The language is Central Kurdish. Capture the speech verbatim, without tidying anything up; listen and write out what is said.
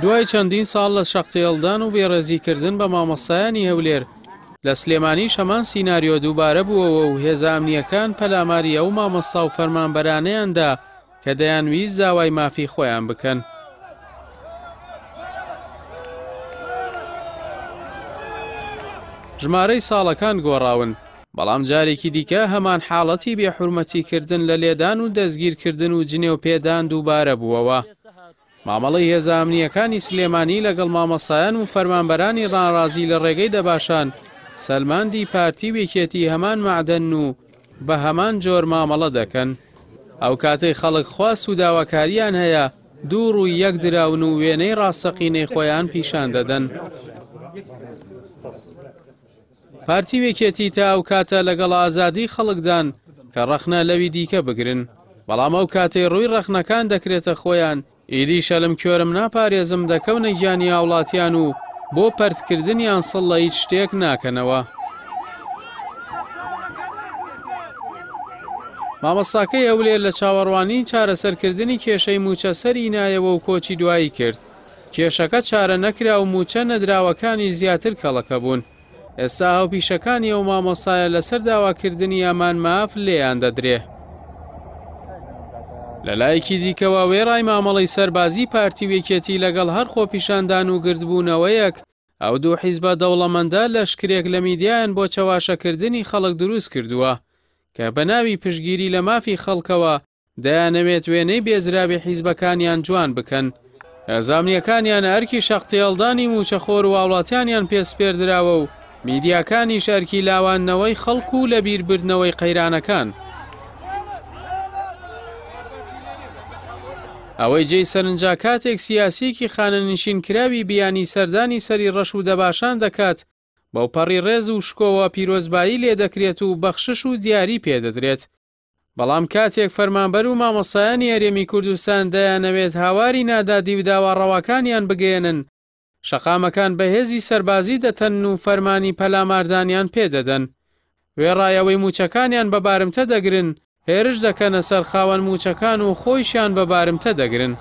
دوای چەندین ساڵ لە شەقتێڵدان و بێڕێزیکردن بە مامۆستایانی هەولێر لە سلێمانیش هەمان سیناریۆ دووبارە بووەوە و هێزە ئەمنییەکان پەلاماری ئەو مامۆستا و فەرمانبەرانەیاندا کە دەیانویست داوای مافی خۆیان بکەن. ژمارەی ساڵەکان گۆڕاون، بەڵام جارێکی دیکە هەمان حاڵەتی بێحورمەتیکردن لە لێدان و دەستگیرکردن و جنێو پێدان دووبارە بووەوە. مامەڵەی هێزە ئەمنییەکانی سلێمانی لەگەڵ مامۆستایان و فەرمانبەرانی ناڕازی لە ڕێگەی دەباشان سەلماندی پارتی و یەکێتی هەمان مەعدەن و بە هەمان جۆر مامەڵە دەکەن. ئەو کاتەی خەڵک خواست و داواکاریان هەیە دوو ڕووی یەک دراون و وێنەی ڕاستەقینەی خۆیان پیشان دەدەن. پارتی و یەکێتی تا ئەو کاتە لەگەڵ ئازادی خەڵکدان کە ڕەخنە لەوی دیکە بگرن، بەڵام ئەو کاتەی ڕووی ڕەخنەکان دەکرێتە خۆیان ئیدی شەلم کوێرم ناپارێزم دەکەونە گیانی هاوڵاتیان و بۆ پەرتکردنیان سڵ لە هیچ شتێک ناکەنەوە. مامۆستاکەی هەولێر لە چاوەڕوانی چارەسەرکردنی کێشەی موچە سەری نایەوە و کۆچی دوایی کرد. کێشەکە چارە نەکرا و موچە نەدراوەکانی زیاتر کەڵەکە بوون. ئێستا هاوپیشەکانی ئەو مامۆستایە لەسەر داواکردنی ئەمان ماف لێیان دەدرێ. لە لایەکی دیکەوە وێڕای مامەڵەی سەربازی پارتی و یەکێتی لەگەڵ هەر خۆپیشاندان و گردبوونەوەیەک، ئەو دوو حیزبە دەوڵەمەندە لەشکرێک لە میدیایان بۆ چەواشەکردنی خەڵک دروست کردووە کە بە ناوی پشتگیری لە مافی خەڵکەوە دەیانەوێت وێنەی بێزراوی حیزبەکانیان جوان بکەن. هێزە ئەمنییەکانیان ئەرکی شەقتێڵدانی موچەخۆر و هاوڵاتیانیان پێسپێردراوە و میدیاکانیش ئەرکی لاواندنەوەی خەڵک و لەبیربردنەوەی قەیرانەکان. ئەوەی جێی سەرنجا کاتێک سیاسیەکی خانەنشین کراوی بیانی سەردانی سەری ڕەش و دەباشان دەکات، بەو پەڕی ڕێز و شکۆوە پیرۆزبایی لێ دەکرێت و بەخشش و دیاری پێدەدرێت. بەڵام کاتێک فەرمانبەر و مامۆستایانی هەرێمی کوردستان دەیانەوێت هاواری نادادی و داوا ڕەواکانیان بگەیەنن، شەقامەکان بەهێزی سەربازی دەتەن و فەرمانی پەلاماردانیان پێدەدەن. وێڕای ئەوەی موچەکانیان بە بارمتە دەگرن، هێرش دەکەنە سەر خاوەن موچەکان و خۆیشیان بە بارمتە دەگرن.